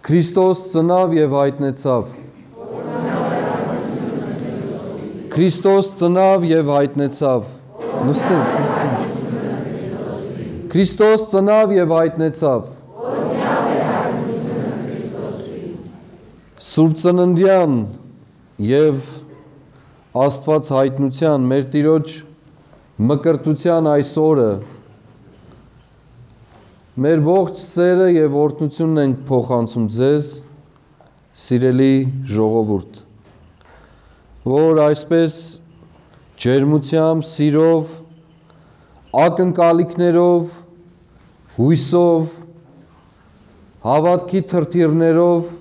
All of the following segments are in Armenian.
Քրիստոս ծնավ եւ հայտնեցավ։ Քրիստոս ծնավ եւ հայտնեցավ։ Նստեք։ Քրիստոս ծնավ եւ հայտնեցավ։ Սուրբ ծննդյան եւ Աստված հայտնության մեր Տիրոջ մկրտության այս օրը մեր ողջ սերը եւ օրհնությունն ենք փոխանցում ձեզ, սիրելի ժողովուրդ, որ այսպես ջերմությամբ, սիրով, ակնկալիքներով, հույսով, հավատքի թրթիռներով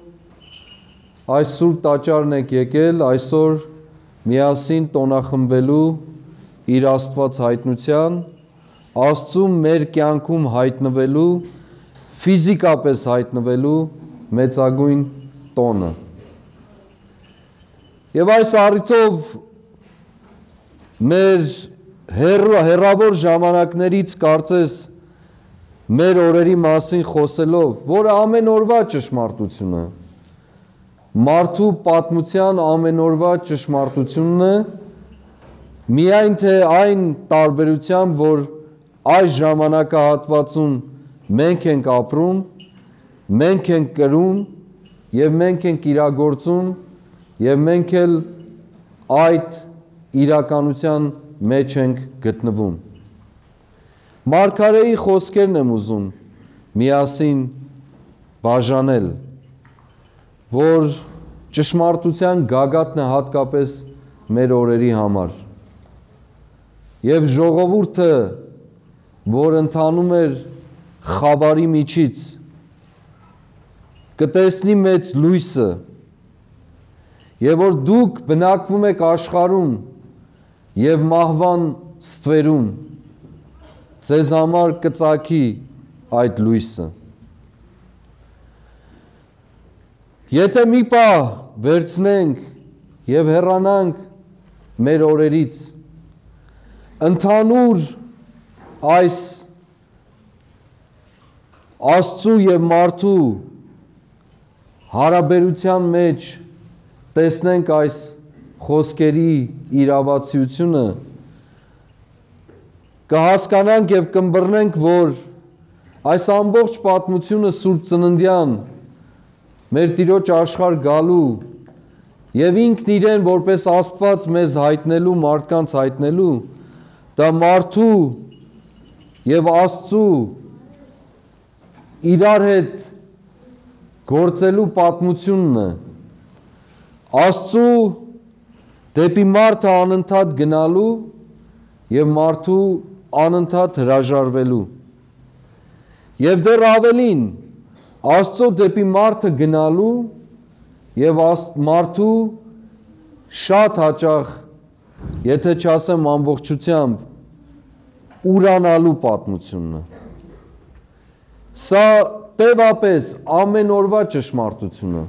այս սուրբ տաճարն եք եկել այսօր միասին տոնախմբելու իր Աստված հայտնության, Աստծու մեր կյանքում հայտնվելու, ֆիզիկապես հայտնվելու մեծագույն տոնը։ Եվ այս առիթով մեր հեռավոր ժամանակներից կարծես մեր օրերի մասին խոսելով, որը ամեն օրվա ճշմարտությունը, մարդու պատմության ամեն օրվա ճշմարտությունն է, միայն թե այն տարբերությամբ, որ այս ժամանակահատվածում մենք ենք ապրում, մենք ենք կրում եւ մենք ենք իրագործում եւ մենք էլ այդ իրականության մեջ ենք գտնվում։ Մարգարեի խոսքերն եմ ուզում միասին բաժանել, որ ճշմարտության գագաթն է հատկապես մեր օրերի համար։ Եվ ժողովուրդը, որ ընթանում էր խավարի միջից, կտեսնի մեծ լույսը, եւ որ դուք բնակվում եք աշխարհում եւ մահվան ստվերում, ձեզ համար կծագի այդ լույսը։ Եթե մի պահ վերցնենք եւ հեռանանք մեր օրերից, ընդհանուր այս Աստծու եւ մարդու հարաբերության մեջ տեսնենք այս խոսքերի իրավացիությունը, կհասկանանք եւ կըմբռնենք, որ այս ամբողջ պատմությունը Սուրբ Ծննդյան մեր Տիրոջ աշխարհ գալու եւ ինքն իրեն որպես Աստված մեզ հայտնելու, մարդկանց հայտնելու, դա մարդու եւ Աստծու իրար հետ գործելու պատմությունն է, Աստծու դեպի մարդը անընդհատ գնալու եւ մարդու անընդհատ հրաժարվելու։ Եվ դեռ ավելին, Աստծո դեպի մարդը գնալու եւ մարդու շատ հաճախ, եթե չասեմ ամբողջությամբ, ուրանալու պատմությունն է։ Սա տևապես ամեն օրվա ճշմարտություն է։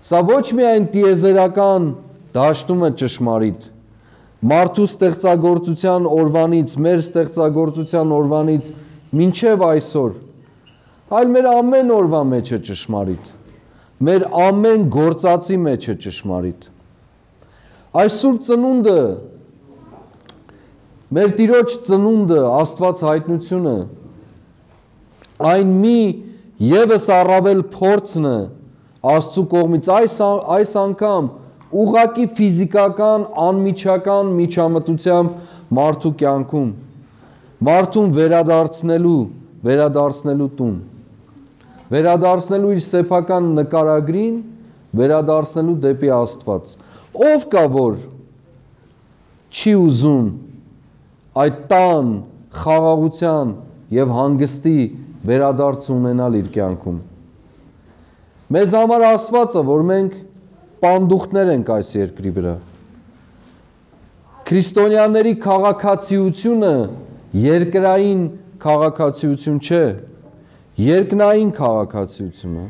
Սա ոչ միայն տիեզերական դաշտում է ճշմարիտ, մարդու ստեղծագործության օրվանից, մեր ստեղծագործության օրվանից մինչև այսօր, այլ մեր ամեն օրվա մեջ է ճշմարիտ, մեր ամեն գործածի մեջ է ճշմարիտ։ Այս Սուրբ Ծնունդը, մեր Տիրոջ ծնունդը, Աստված հայտնությունը, այն մի եւս առավել փորձն է Աստծու կողմից այս անգամ ուղղակի ֆիզիկական, անմիջական միջամտությամբ մարդու կյանքում, մարդուն վերադարձնելու տուն, վերադարձնելու իր սեփական նկարագրին, վերադարձնելու դեպի Աստված։ Ով կա, որ չի ուզում այդ տան, խաղաղության եւ հանգստի վերադարձ ունենալ իր կյանքում։ Մեզ համար ասված է, որ մենք պանդուխտներ ենք այս երկրի վրա։ Քրիստոնյաների քաղաքացիությունը երկրային քաղաքացիություն չէ, երկնային քաղաքացիություն է։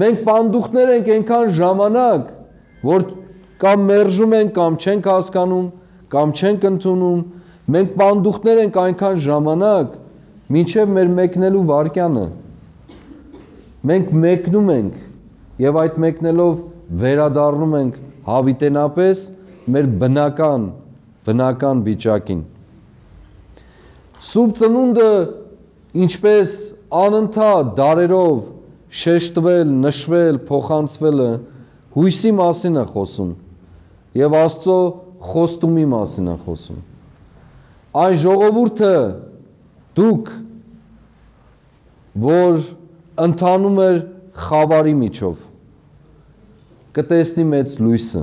Մենք պանդուխտներ ենք այնքան ժամանակ, որ կամ մերժում ենք, կամ չենք հասկանում, կամ չենք ընդունում, մենք պանդուխտներ ենք այնքան ժամանակ, մինչև մեր մեկնելու վարկյանը։ մենք մեկնում ենք եւ այդ մեկնելով վերադառնում ենք հավիտենապես մեր բնական վիճակին։ Սուրբ ծնունդը ինչպես անընդհատ դարերով շեշտվել, նշվել, փոխանցվելը հույսի մասին է խոսում եւ Աստծո խոստումի մասին է խոսում։ Այն ժողովուրդը դուք, որ ընթանում էր խավարի միջով, կտեսնի մեծ լույսը։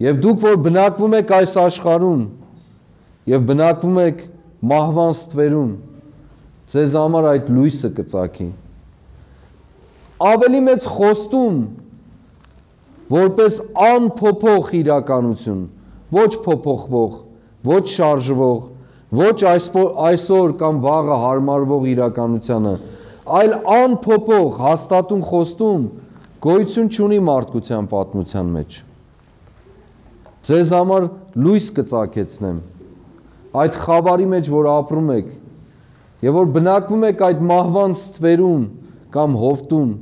Եվ դուք, որ բնակվում եք այս աշխարհում եւ բնակվում եք մահվան ստվերում, ձեզ համար այդ լույսը կծագի։ Ավելի մեծ խոստում, որպես անփոփոխ իրականություն, ոչ փոփոխվող, ոչ շարժվող, ոչ այսօր կամ վաղը հարմարվող իրականությանը, այլ անփոփոխ հաստատուն խոստում գոյություն չունի մարդկության պատմության մեջ։ Ձեզ համար լույս կծագեցնեմ, այդ խավարի մեջ, որ ապրում եք, եւ որ բնակվում եք այդ մահվան ստվերում կամ հովտում,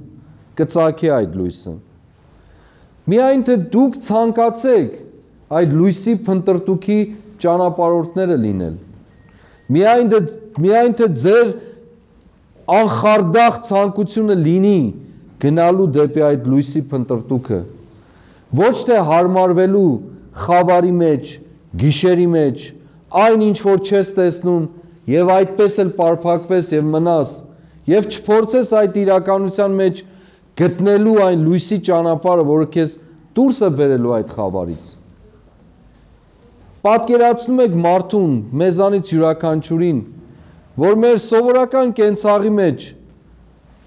կծագի այդ լույսը։ Միայն թե դուք ցանկացեք այդ լույսի փնտրտուքի ճանապարհորդները լինել։ Միայն թե ձեր անխարդախ ցանկությունը լինի գնալու դեպի այդ լույսի փնտրտուքը, ոչ թե հարմարվելու խավարի մեջ, գիշերի մեջ, այն ինչ որ չես տեսնում եւ այդպես էլ պարփակվես եւ մնաս եւ չփորձես այդ իրականության մեջ գտնելու այն լույսի ճանապարհը, որը քեզ դուրս է բերելու այդ խավարից։ Պատկերացնում եք մարդուն, մեզանից յուրաքանչյուրին, որ մեր սովորական կենցաղի մեջ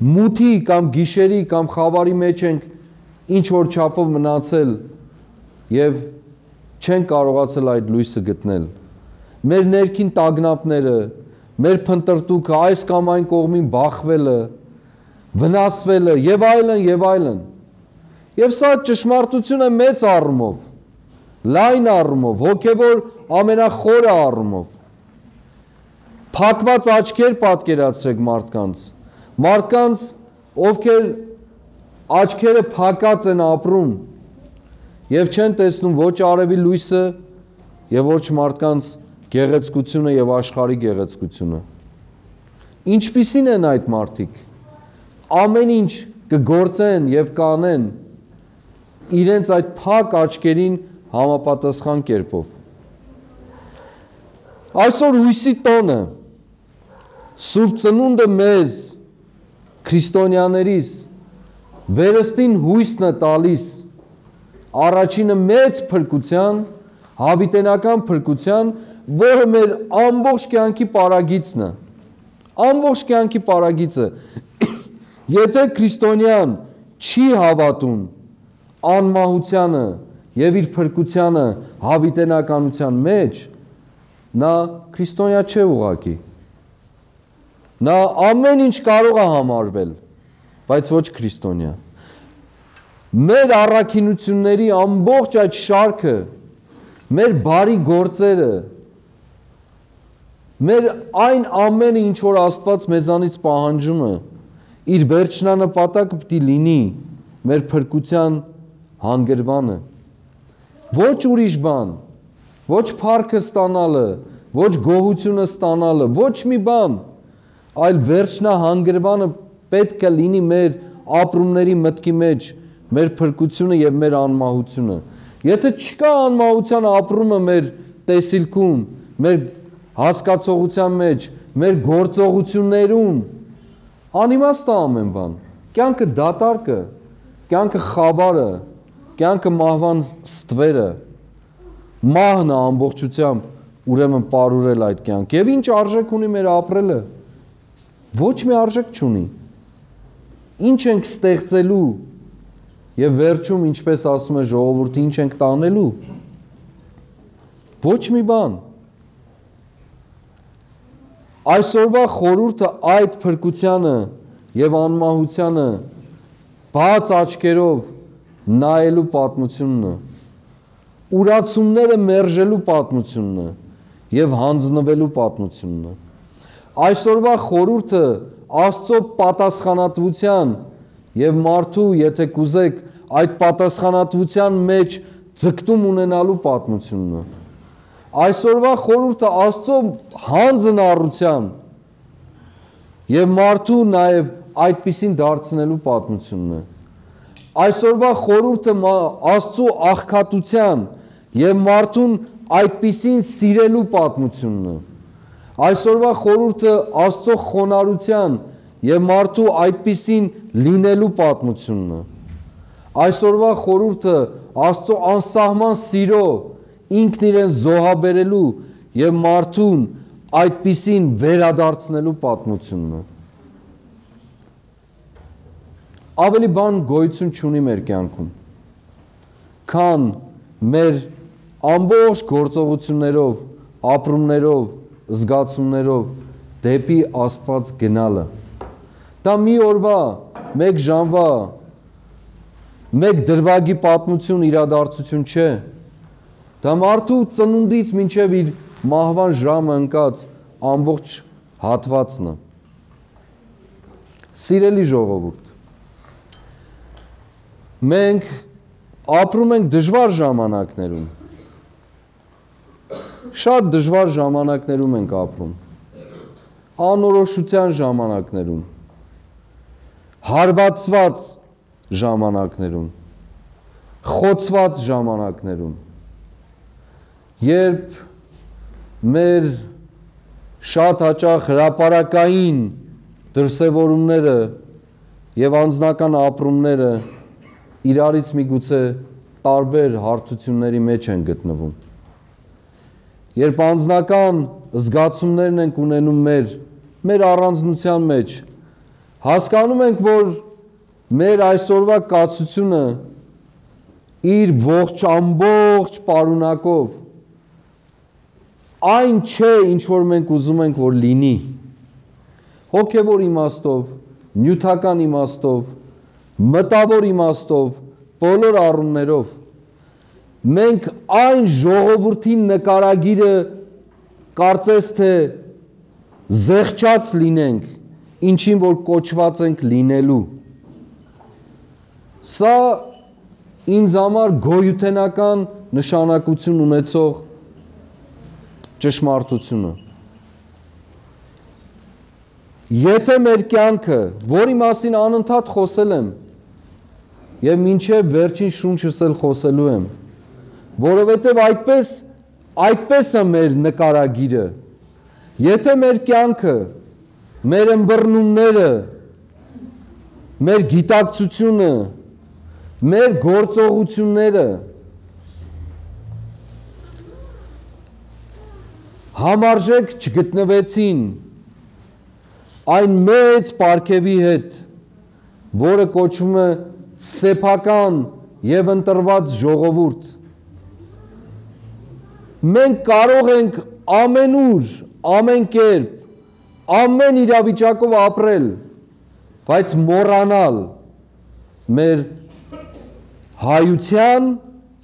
մութի կամ գիշերի կամ խավարի մեջ ենք ինչ որ չափով մնացել եւ չեն կարողացել այդ լույսը գտնել։ Մեր ներքին տագնապները, մեր փնտրտուքը, այս կամ այն կողմին բախվելը, վնասվելը եւ այլն եւ այլն։ Եվ սա ճշմարտություն է մեծ առումով, լայն առումով, հոգեվոր ամենախորը առումով։ Փակված աչքեր պատկերացրեք մարդկանց, ովքեր աչքերը փակած են ապրում եւ չեն տեսնում ոչ արևի լույսը եւ ոչ մարդկանց գեղեցկությունը եւ աշխարհի գեղեցկությունը։ Ինչպիսին են այդ մարդիկ։ Ամեն ինչ կգործեն եւ կանեն իրենց այդ փակ աչքերին համապատասխան կերպով։ Այսօր հույսի տոնը, Սուրբ ծնունդը մեզ, քրիստոնյաներիս, վերստին հույսն է տալիս, առաջինը մեծ փրկության, հավիտենական փրկության, որը մեր ամբողջ կյանքի պարագիծն է, ամբողջ կյանքի պարագիծը։ Եթե քրիստոնյան չի հավատում անմահությանը եւ իր փրկությանը հավիտենականության մեջ, նա քրիստոնյա չէ ուղղակի։ Նա ամեն ինչ կարող է համարվել, բայց ոչ քրիստոնյա։ Մեր առաքինությունների ամբողջ այդ շարքը, մեր բարի գործերը, մեր այն ամենը, ինչ որ Աստված մեզանից պահանջում է, իր վերջնանպատակը պիտի լինի մեր փրկության հանգրվանը։ Ոչ ուրիշ բան, ոչ փառքը ստանալը, ոչ գոհությունը ստանալը, ոչ մի բան, այլ վերջնահանգրվանը պետք է լինի մեր ապրումների մտքի մեջ, մեր փրկությունը եւ մեր անմահությունը։ Եթե չկա անմահության ապրումը մեր տեսիլքում, մեր հասկացողության մեջ, մեր գործողություններում, անիմաստ է ամեն բան։ Կյանքը դատարկ է, կյանքը խավարը, կյանքը մահվան ստվերը, մահն է ամբողջությամբ ուրեմն պարուրել այդ կյանք։ Եվ ինչ արժեք ունի մեր ապրելը։ Ոչ մի արժեք չունի։ Ինչ ենք ստեղծելու եւ վերջում, ինչպես ասում է ժողովուրդը, ինչ ենք տանելու։ Ոչ մի բան։ Այսօրվա խորհուրդը այդ փրկությանը եւ անմահությանը բաց աչքերով նայելու պատմությունն է։ Ուրացումները մերժելու պատմությունն է եւ հանձնվելու պատմությունն է։ Այսօրվա խորհուրդը Աստծո պատասխանատվության եւ մարդու, եթե կուզեք, այդ պատասխանատվության մեջ ձգտում ունենալու պատմությունն է։ Այսօրվա խորհուրդը Աստծո հանձնառության եւ մարդու նաեւ այդպիսին դարձնելու պատմությունն է։ Այսօրվա խորհուրդը Աստծո աղքատության եւ մարդուն այդպիսին սիրելու պատմությունն է։ Այսօրվա խորհուրդը Աստծո խոնարհության եւ մարդու այդպիսին լինելու պատմությունն է։ Այսօրվա խորհուրդը Աստծո անսահման սիրո ինքն իրեն զոհաբերելու եւ մարդուն այդպիսին վերադարձնելու պատմությունն է։ Ավելի բան գոյություն չունի մեր կյանքում, քան մեր ամբողջ գործողություններով, ապրումներով, զգացումներով դեպի Աստված գնալը։ Դա մի օրվա, մեկ ժամվա, մեկ դրվագի պատմություն, իրադարձություն չէ։ Դա մարդու ծնունդից մինչև իր մահվան ժամը ընկած ամբողջ հատվածն է։ Սիրելի ժողովուրդ, մենք ապրում ենք դժվար ժամանակներում, շատ դժվար ժամանակներում ենք ապրում, անորոշության ժամանակներում, հարվածված ժամանակներում, խոցված ժամանակներում, երբ մեր շատ հաճախ հրապարակային դրսևորումները եւ անձնական ապրումները իրարից միգուցե տարբեր հարթությունների մեջ են գտնվում։ Երբ անձնական զգացումներն ենք ունենում մեր առանձնության մեջ, հասկանում ենք, որ մեր այսօրվա կացությունը իր ամբողջ պարունակով այն չէ, ինչ որ մենք ուզում ենք, որ լինի, հոգևոր իմաստով, նյութական իմաստով, մտավոր իմաստով, բոլոր առումներով, մենք այն ժողովրդի նկարագիրը կարծես թե զեղչած լինենք, ինչին որ կոչված ենք լինելու։ Սա ինձ համար գոյութենական նշանակություն ունեցող ճշմարտությունը։ Եթե մեր կյանքը, որի մասին անընդհատ խոսել եմ, եւ մինչև վերջին շունչս էլ խոսելու եմ, որովհետև այդպես է մեր նկարագիրը, եթե մեր կյանքը, մեր ըմբռնումները, մեր գիտակցությունը, մեր գործողությունները համարժեք չգտնվեցին այն մեծ պարգևի հետ, որը կոչվում է սեփական եւ ընտրված ժողովուրդ, մենք կարող ենք ամենուր, ամեն կերպ, ամեն իրավիճակով ապրել, բայց մոռանալ մեր հայության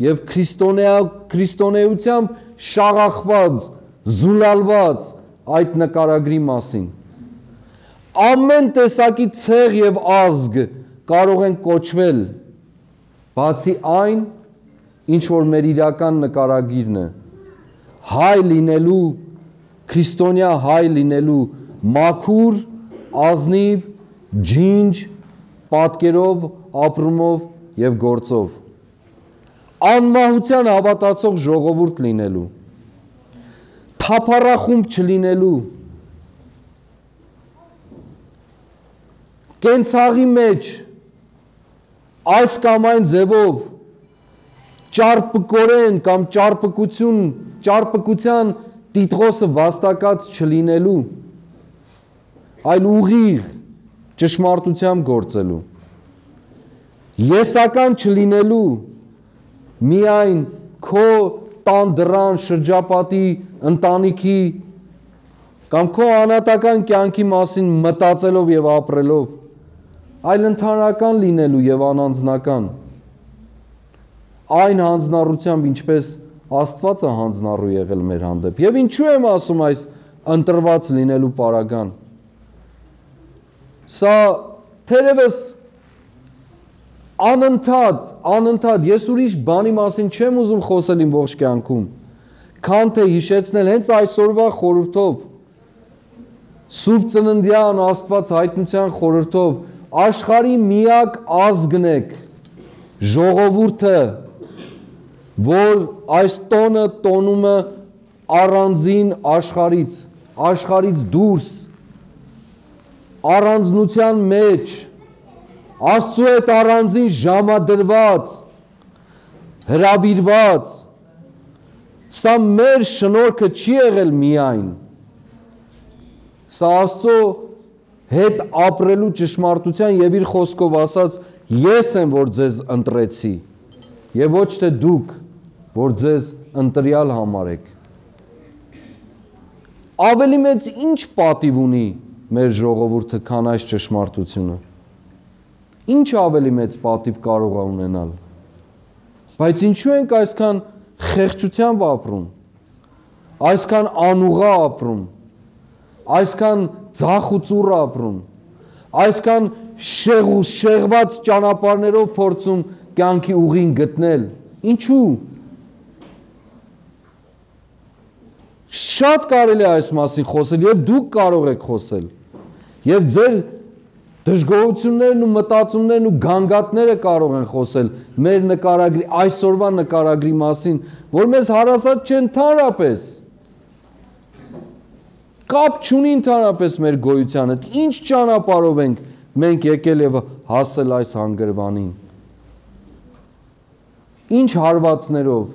եւ քրիստոնեությամբ շաղախված, զուլալված այդ նկարագրի մասին։ Ամեն տեսակի ցեղ եւ ազգ կարող են կոչվել, բացի այն, ինչ որ մեր իրական նկարագիրն է, հայ լինելու, քրիստոնյա հայ լինելու մաքուր, ազնիվ, ջինջ, պատկերով, ապրումով եւ գործով, անմահության հավատացող ժողովուրդ լինելու, թափառախումբ չլինելու, կենցաղի մեջ այս կամ այն ձևով ճարպկորեն կամ ճարպկության տիտղոսը վաստակած չլինելու, այլ ուղիղ ճշմարտությամբ գործելու, եսական չլինելու, միայն քո տան դռան շրջապատի ընտանիքի կամ քո անհատական կյանքի մասին մտածելով եւ ապրելով, այլ ընդհանրական լինելու եւ անանձնական, այն հանձնառությամբ, ինչպես Աստված է հանձնառու եղել մեր հանդեպ։ Եվ ինչու եմ ասում այս ընտրված լինելու պարագան։ Սա թերևս անընդհատ ես ուրիշ բանի մասին չեմ ուզում խոսել իմ ողջ կյանքում, քան թե հիշեցնել հենց այսօրվա խորհրդով, Սուրբ Ծննդյան Աստված հայտնության խորհրդով, աշխարհի միակ ազգն եք, ժողովուրդը, որ այս տոնը տոնումը առանձին աշխարհից դուրս, առանձնության մեջ, Աստծու հետ առանձին ժամադրված, հրավիրված, սա մեր շնորհքը չի եղել միայն, սա Աստծո հետ ապրելու ճշմարտության եւ իր խոսքով ասած ես եմ, որ ձեզ ընտրեցի եւ ոչ թե դուք, որ ձեզ ընտրյալ համարեք։ Ավելի մեծ ինչ պատիվ ունի մեր ժողովուրդը, քան այս ճշմարտությունը։ Ինչ ավելի մեծ պատիվ կարող է ունենալ։ Բայց ինչու ենք այսքան խեղճությամբ ապրում, այսքան անուղղա ապրում, այսքան ձախ ու ծուռ ապրում, այսքան շեղված ճանապարհներով փորձում կյանքի ուղին գտնել։ Ինչու։ Շատ կարելի է այս մասին խոսել եւ դուք կարող եք խոսել։ Եվ ձեր դժգոհություններն ու մտածումներն ու գանգատները կարող են խոսել մեր նկարագրի, այսօրվա նկարագրի մասին, որ մեզ հարազատ չեն ընդհանրապես։ Կապ չունի ընդհանրապես մեր գոյության հետ։ Ինչ ճանապարհով ենք մենք եկել եւ հասել այս հանգրվանին։ Ինչ հարվածներով,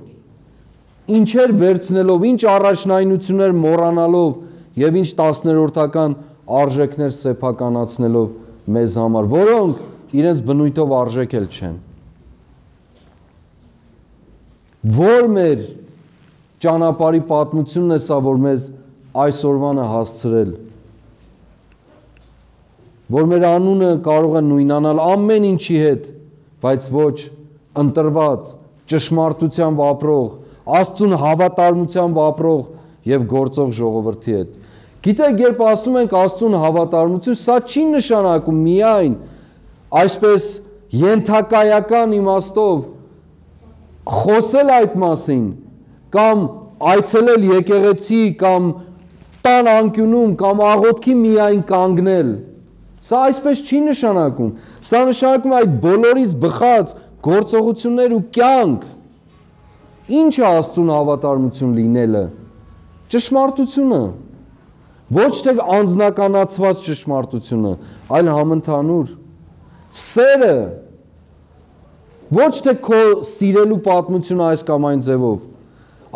ինչեր վերցնելով, ինչ առաջնայնություններ մոռանալով եւ ինչ 10-րդական արժեքներ սեփականացնելով մեզ համար, որոնք իրենց բնույթով արժեք էլ չեն։ Որ մեր ճանապարհի պատմությունն է սա, որ մեզ այսօրվանը հասցրել, որ մեր անունը կարող է նույնանալ ամեն ինչի հետ, բայց ոչ ընտրված, ճշմարտությամբ ապրող, Աստծուն հավատարմությամբ ապրող եւ գործող ժողովրդի հետ։ Գիտեք, երբ ասում ենք Աստծուն հավատարմություն, սա չի նշանակում միայն այսպես ենթակայական իմաստով խոսել այդ մասին, կամ այցելել եկեղեցի, կամ տան անկյունում, կամ աղոթքի միայն կանգնել։ Սա այսպես չի նշանակում։ Սա նշանակում է այդ բոլորից բխած գործողություններ ու կյանք։ Ինչ է Աստծուն հավատարմություն լինելը։ Ճշմարտությունը։ Ոչ թե անձնականացված ճշմարտությունը, այլ համընդհանուր սերը, ոչ թե քո սիրելու պատմությունը այս կամ այն ձևով,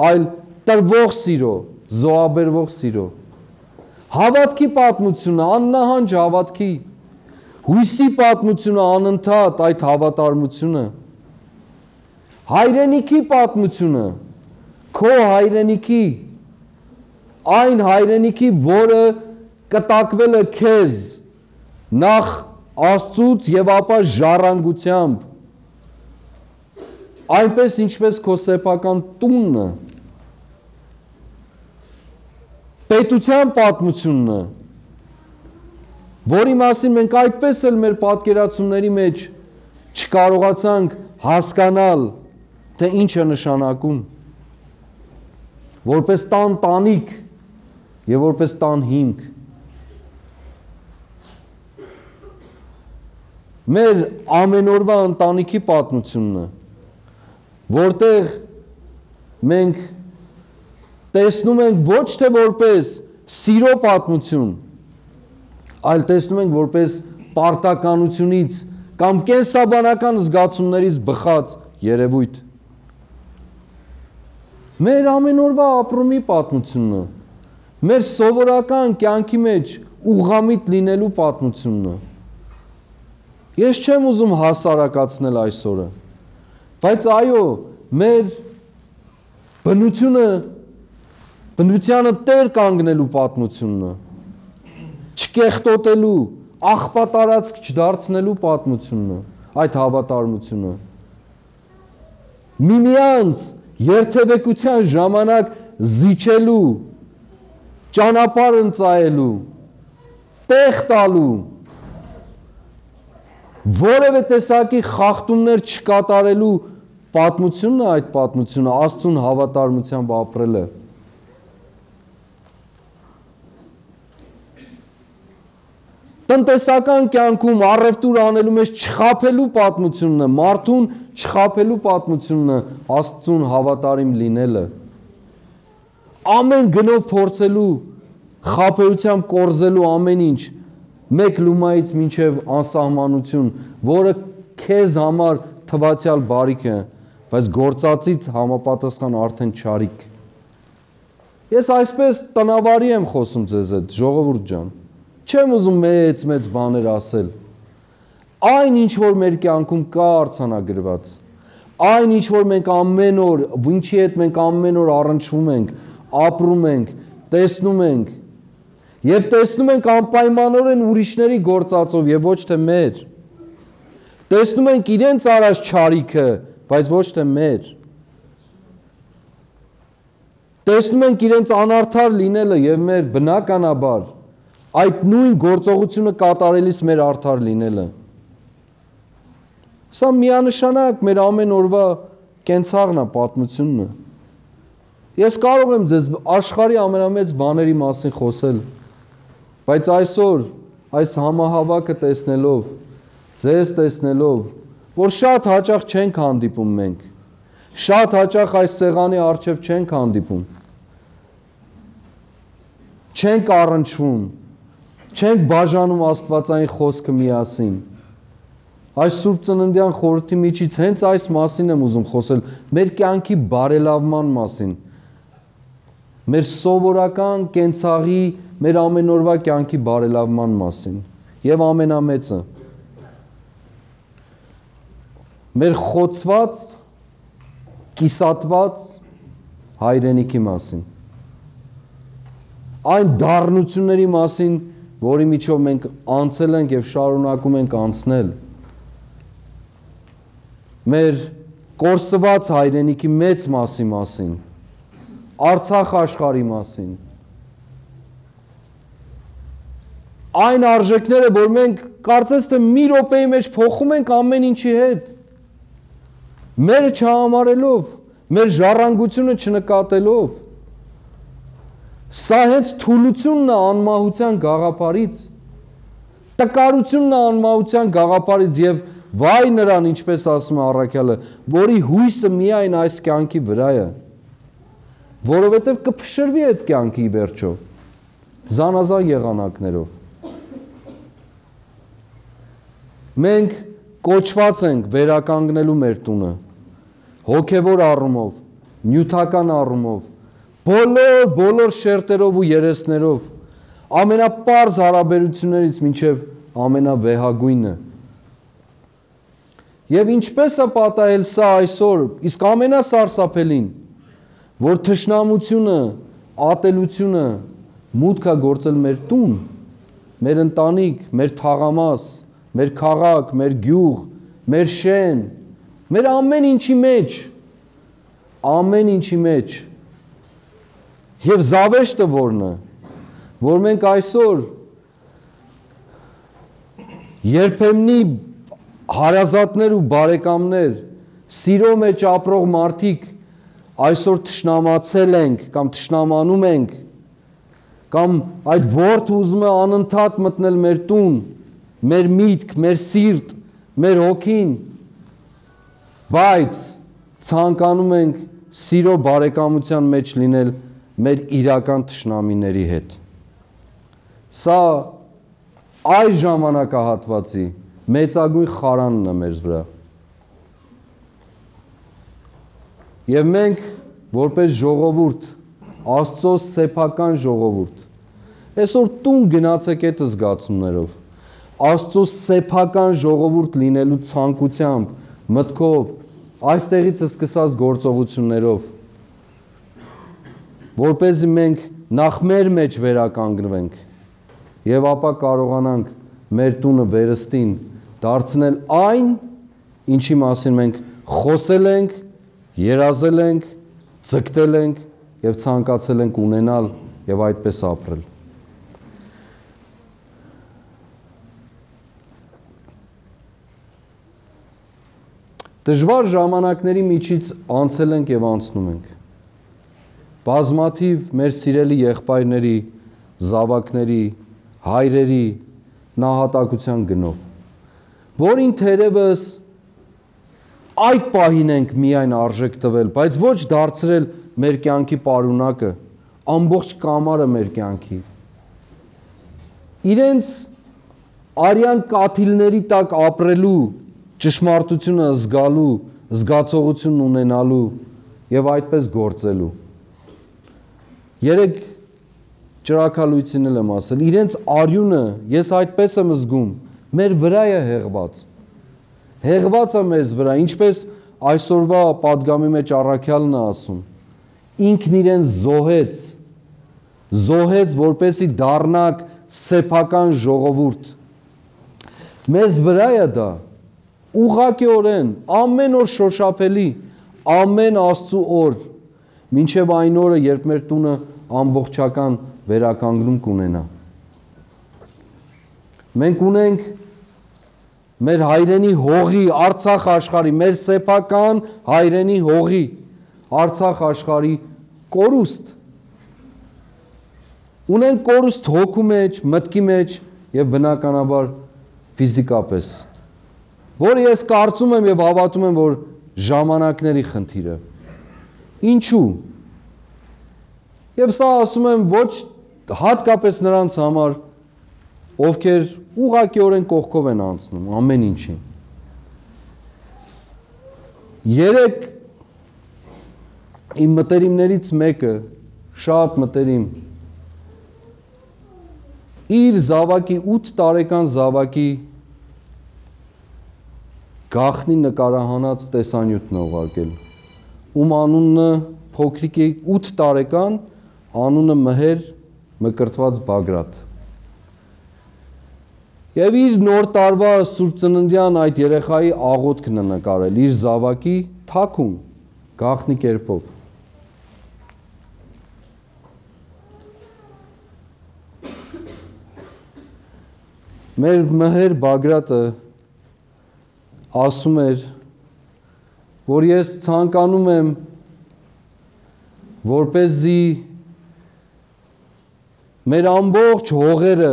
այլ տրվող սիրո, զոհաբերվող սիրո, հավատքի պատմությունը, աննահանջ հավատքի, հույսի պատմությունը, անընդհատ այդ հավատարմությունը, հայրենիքի պատմությունը, քո հայրենիքի, այն հայրենիքի, որը կտակվել է քեզ նախ Աստծուց եւ ապա ժառանգությամբ, այնպես ինչպես քո սեփական տունը, պետության պատմությունն է, որի մասին մենք այդպես էլ մեր պատկերացումների մեջ չկարողացանք հասկանալ, թե ինչ է նշանակում, որպես տան տանիք եւ որպես տան հիմք։ Մեր ամենօրվա ընտանիքի պատմությունն է, որտեղ մենք տեսնում ենք ոչ թե որպես սիրո պատմություն, այլ տեսնում ենք որպես պարտականությունից կամ կենսաբանական զգացումներից բխած երևույթ։ Մեր ամենօրվա ապրումի պատմությունն է, մեր սովորական կյանքի մեջ ուղղամիտ լինելու պատմությունն է։ Ես չեմ ուզում հասարակացնել այսօրը, բայց այո, մեր բնությանը տեր կանգնելու պատմությունն է, չկեղտոտելու, աղբատարածք չդարձնելու պատմությունն է, այդ հավատարմությունը։ Միմյանց երթևեկության ժամանակ զիջելու, ճանապարհ ընծայելու, տեղ տալու, որևէ տեսակի խախտումներ չկատարելու պատմությունն է այդ պատմությունը, Աստծուն հավատարմությամբ ապրելը։ Տնտեսական կյանքում առևտուր անելու մեջ չխաբելու պատմությունն է, մարդուն չխաբելու պատմությունն է, Աստծուն հավատարիմ լինելը։ Ամեն գնով փորձելու, խաբեությամբ կորզելու ամեն ինչ, մեկ լումայից մինչև անսահմանություն, որը քեզ համար թվացյալ բարիք է, բայց գործածիդ համապատասխան արդեն չարիք։ Ես այսպես տնավարի եմ խոսում ձեզ հետ, ժողովուրդ ջան։ Չեմ ուզում մեծ բաներ ասել։ Այն ինչ որ մեր կյանքում կա արձանագրված, այն ինչ որ մենք ամեն օր, ինչի հետ մենք ամեն օր առնչվում ենք, ապրում ենք, տեսնում ենք, եւ տեսնում ենք անպայմանորեն ուրիշների գործածով եւ ոչ թե մեր։ Տեսնում ենք իրենց արած չարիքը, բայց ոչ թե մեր։ Տեսնում ենք իրենց անարդար լինելը եւ մեր բնականաբար այդ նույն գործողությունը կատարելիս մեր արդար լինելը։ Սա միանշանակ մեր ամեն օրվա կենցաղն է, պատմությունն է։ Ես կարող եմ ձեզ աշխարհի ամենամեծ բաների մասին խոսել, բայց այսօր այս համահավաքը տեսնելով, ձեզ տեսնելով, որ շատ հաճախ չենք հանդիպում մենք, շատ հաճախ այս սեղանի առջև չենք հանդիպում, չենք առնչվում, չենք բաժանում Աստվածային խոսքը միասին։ Այս Սուրբ Ծննդյան խորհրդի միջից հենց այս մասին եմ ուզում խոսել, մեր կյանքի բարելավման մասին, մեր սովորական կենցաղի, մեր ամենօրվա կյանքի բարելավման մասին, եւ ամենամեծը, մեր խոցված, կիսատված հայրենիքի մասին, այն դառնությունների մասին, որի միջով մենք անցել ենք եւ շարունակում ենք անցնել, մեր կորսված հայրենիքի մեծ մասի մասին, Արցախ աշխարհի մասին, այն արժեքները, որ մենք կարծես թե մի րոպեի մեջ փոխում ենք ամեն ինչի հետ, մերը չհամարելով, մեր ժառանգությունը չնկատելով, սա հենց թուլությունն է անմահության գաղափարից, տկարությունն է անմահության գաղափարից եւ վայ նրան, ինչպես ասում է առաքյալը, որի հույսը միայն այս կյանքի վրա է, որովհետեւ կփշրվի այդ կյանքի վերջով, զանազան եղանակներով։ Մենք կոչված ենք վերականգնելու մեր տունը, հոգևոր առումով, նյութական առումով, բոլոր շերտերով ու երեսներով, ամենապարզ հարաբերություններից մինչև ամենավեհագույնը։ Եվ ինչպես է պատահել սա այսօր, իսկ ամենասարսափելին, որ թշնամությունը, ատելությունը մուտք է գործել մեր տուն, մեր ընտանիք, մեր թաղամաս, մեր քաղաք, մեր գյուղ, մեր շեն, մեր ամեն ինչի մեջ, եւ զավեշտը որն է, որ մենք այսօր երբեմնի հարազատներ ու բարեկամներ, սիրո մեջ ապրող մարդիկ այսօր թշնամացել ենք կամ թշնամանում ենք, կամ այդ որդը ուզում է անընդհատ մտնել մեր տուն, մեր միտք, մեր սիրտ, մեր հոգին, բայց ցանկանում ենք սիրո բարեկամության մեջ լինել մեր իրական թշնամիների հետ։ Սա այս ժամանակահատվածի մեծագույն խարանն է մեր վրա։ Եվ մենք որպես ժողովուրդ, Աստծո սեփական ժողովուրդ, այսօր տուն գնացեք այդ զգացումներով, Աստծո սեփական ժողովուրդ լինելու ցանկությամբ, մտքով, այստեղից սկսած գործողություններով, որպեսզի մենք նախ մեր մեջ վերականգնվենք եւ ապա կարողանանք մեր տունը վերստին դարձնել այն, ինչի մասին մենք խոսել ենք, երազել ենք, ձգտել ենք եւ ցանկացել ենք ունենալ եւ այդպես ապրել։ Դժվար ժամանակների միջից անցել ենք եւ անցնում ենք։ Բազմաթիվ մեր սիրելի եղբայրների, զավակների, հայրերի նահատակության գնով, որին թերևս այդ պահին ենք միայն արժեք տվել, բայց ոչ դարձրել մեր կյանքի պարունակը, ամբողջ կամարը մեր կյանքի։ Իրենց արյան կաթիլների տակ ապրելու, ճշմարտությունը զգալու, զգացողություն ունենալու եւ այդպես գործելու։ Երեք ճրագալույցին էլ եմ ասել, իրենց արյունը, ես այդպես եմ զգում, մեր վրա է հեղված։ Հեղված է մեզ վրա, ինչպես այսօրվա պատգամի մեջ առաքյալն է ասում, ինքն իրեն զոհեց, որպեսի դառնանք սեփական ժողովուրդ։ Մեզ վրա է դա, ուղղակիորեն, ամեն օր շոշափելի, ամեն Աստծու օր, մինչև այն օրը, երբ մեր տունը ամբողջական վերականգնում կունենա։ Մենք ունենք մեր հայրենի հողի, Արցախ աշխարհի, մեր սեփական հայրենի հողի, Արցախ աշխարհի կորուստ։ Ունենք կորուստ հոգու մեջ, մտքի մեջ եւ բնականաբար ֆիզիկապես, որը ես կարծում եմ եւ հավատում եմ, որ ժամանակների խնդիր է։ Ինչու՞։ Եվ սա ասում եմ ոչ հատկապես նրանց համար, ովքեր ուղղակիորեն կողքով են անցնում ամեն ինչին։ Երեք իմ մտերիմներից մեկը, շատ մտերիմ, իր զավակի 8 տարեկան զավակի գաղտնի նկարահանած տեսանյութն է ուղարկել, ում անունը փոքրիկի 8 տարեկան, անունը Մհեր Մկրտված Բագրատ։ Եվ իր նոր տարվա Սուրբ Ծննդյան այդ երեխայի աղոթքն է նկարել, իր զավակի թաքուն, գաղտնի կերպով։ Մեր Մհեր Բագրատը ասում էր, որ ես ցանկանում եմ, որպեսզի մեր ամբողջ հողերը,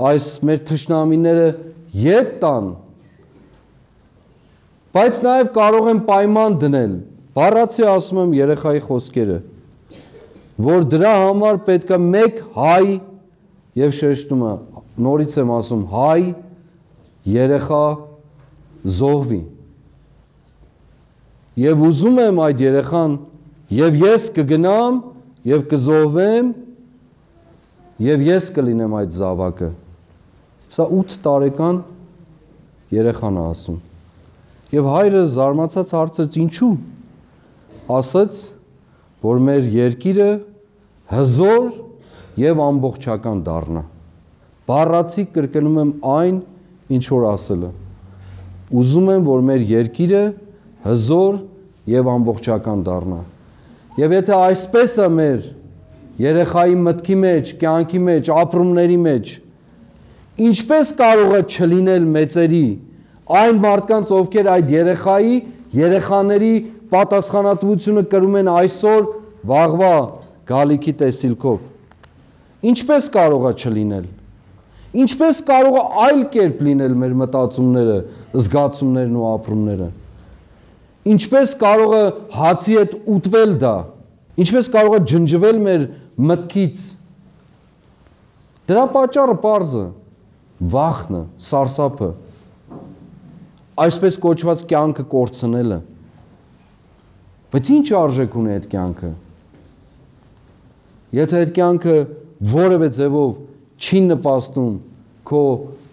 այս մեր թշնամիները ետ տան, բայց նաև կարող եմ պայման դնել, բառացի ասում եմ երեխայի խոսքերը, որ դրա համար պետք է մեկ հայ, եւ շեշտում է, նորից եմ ասում, հայ երեխա զոհվի։ Եվ ուզում եմ այդ երեխան, եւ ես կգնամ, եւ կզոհվեմ, եւ ես կլինեմ այդ զավակը։ Սա 8 տարեկան երեխան է ասում։ Եվ հայրը զարմացած հարցրեց, ինչու։ Ասաց, որ մեր երկիրը հզոր եւ ամբողջական դառնա։ Բառացի կրկնում եմ այն, ինչ որ ասելը։ Ուզում եմ, որ մեր երկիրը հզոր եւ ամբողջական դառնա։ Եվ եթե այսպես է մեր երեխայի մտքի մեջ, կյանքի մեջ, ապրումների մեջ, ինչպես կարող է չլինել մեծերի, այն մարդկանց, ովքեր այդ երեխաների պատասխանատվությունը կրում են այսօր, վաղվա գալիքի տեսիլքով։ Ինչպես կարող է չլինել։ Ինչպես կարող է այլ կերպ լինել մեր մտածումները, զգացումներն ու ապրումները։ Ինչպես կարող է հացի հետ ուտվել դա։ Ինչպես կարող է ջնջվել մեր մտքից։ Դրա պատճառը պարզ է, վախն է, սարսափը, այսպես կոչված կյանքը կորցնելը։ Բայց ինչ արժեք ունի այդ կյանքը։ Եթե այդ կյանքը որևէ ձևով չի նպաստում քո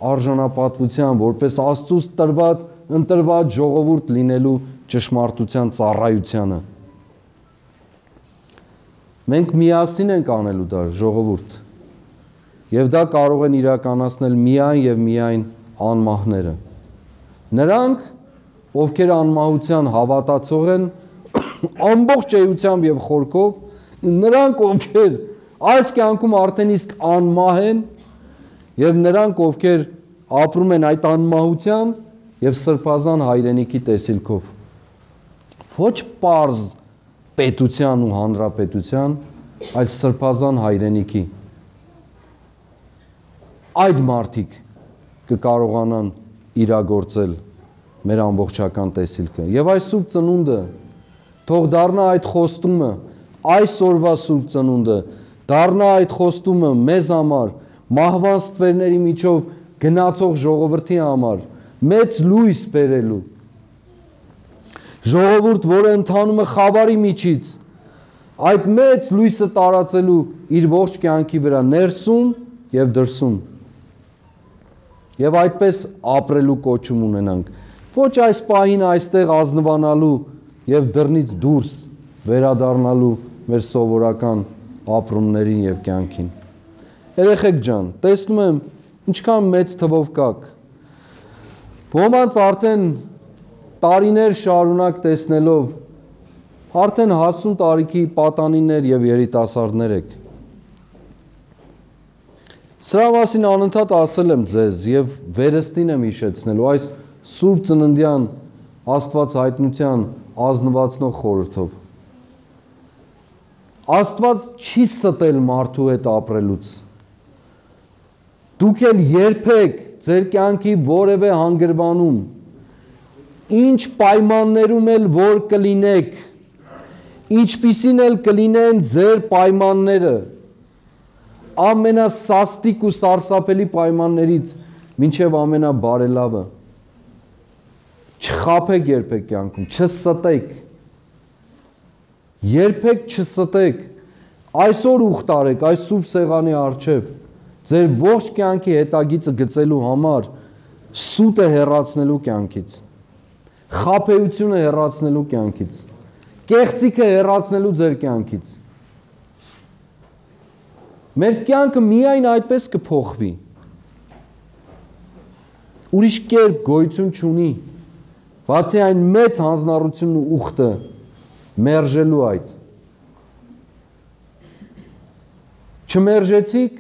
արժանապատվության, որպես Աստծուց ընտրված ժողովուրդ լինելու ճշմարտության ծառայությանը։ Մենք միասին ենք անելու դա, ժողովուրդ, եւ դա կարող են իրականացնել միայն եւ միայն անմահները։ Նրանք, ովքեր անմահության հավատացող են, ամբողջ էությամբ եւ խորքով Նրանք, ովքեր այս կյանքում արդեն իսկ անմահ են, եւ նրանք, ովքեր ապրում են այդ անմահության եւ սրբազան հայրենիքի տեսիլքով։ Ոչ պարզ պետության ու հանրապետության, այլ սրբազան հայրենիքի։ Այդ մարդիկ կկարողանան իրագործել մեր ամբողջական տեսիլքը։ Եվ այս սուրբ ծնունդը թող դառնա այդ խոստումը, այսօրվա սուրբ ծնունդը դառնա այդ խոստումը մեզ համար, մահվան ստվերների միջով գնացող ժողովրդի համար, մեծ լույս բերելու։ Ժողովուրդ, որը ընթանում է խավարի միջից, այդ մեծ լույսը տարածելու իր ողջ կյանքի վրա, ներսում եւ դրսում։ Եվ այդպես ապրելու կոչում ունենանք։ Ոչ այս պահին այստեղ ազնվանալու եւ դռնից դուրս վերադառնալու մեր սովորական ապրումներին եւ կյանքին։ Երեխեք ջան, տեսնում եմ ինչքան մեծ թվով կաք։ Ոմանց արդեն տարիներ շարունակ տեսնելով արդեն հասուն տարիքի պատանիներ եւ երիտասարդներ եք։ Սրա մասին անընդհատ ասել եմ ձեզ եւ վերստին եմ հիշեցնելու այս Սուրբ Ծննդյան Աստված հայտնության ազնվացնող խորհրդով։ Աստված չի ստել մարդու հետ ապրելուց։ Դուք էլ երբեք ձեր կյանքի որևէ հանգրվանում, ինչ պայմաններում էլ որ կլինեք, ինչպիսին էլ կլինեն ձեր պայմանները, ամենասաստիկ ու սարսափելի պայմաններից մինչև ամենաբարելավը, չխաբեք երբեք կյանքում, չստեք, երբեք չստեք, այսօր ուխտ արեք այս սուրբ սեղանի առջև, ձեր ողջ կյանքի հետագիծը գծելու համար, սուտը հեռացնելու կյանքից, խաբեությունը հեռացնելու կյանքից, կեղծիքը հեռացնելու ձեր կյանքից։ Մեր կյանքը միայն այդպես կփոխվի։ Ուրիշ կերպ գոյություն չունի, բացի այն մեծ հանձնառությունն ու ուխտը մերժելու այդ։ Չմերժեցիք,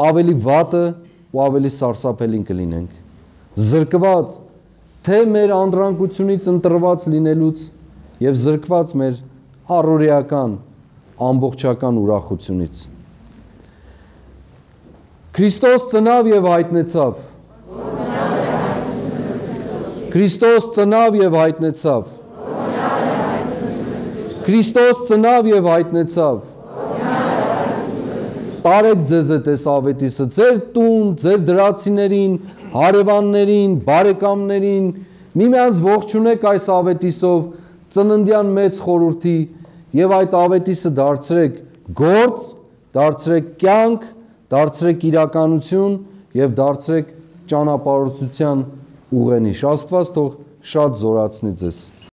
ավելի վատը ու ավելի սարսափելին կլինենք։ Զրկված թե մեր անդրանկությունից ընտրված լինելուց եւ զրկված մեր առօրեական ամբողջական ուրախությունից։ Քրիստոս ծնավ եւ հայտնեցավ։ Քրիստոս ծնավ եւ հայտնեցավ։ Քրիստոս ծնավ եւ հայտնեցավ։ Տարեք ձեզ այս ավետիսը, ձեր տուն, ձեր դրացիներին, հարևաններին, բարեկամներին, միմյանց ողջունեք այս ավետիսով, ծննդյան մեծ խորհրդի եւ այդ ավետիսը դարձրեք գործ, դարձրեք կյանք, դարձրեք իրականություն եւ դարձրեք ճանապարհորդության ուղենիշ։ Աստված թող շատ զորացնի ձեզ։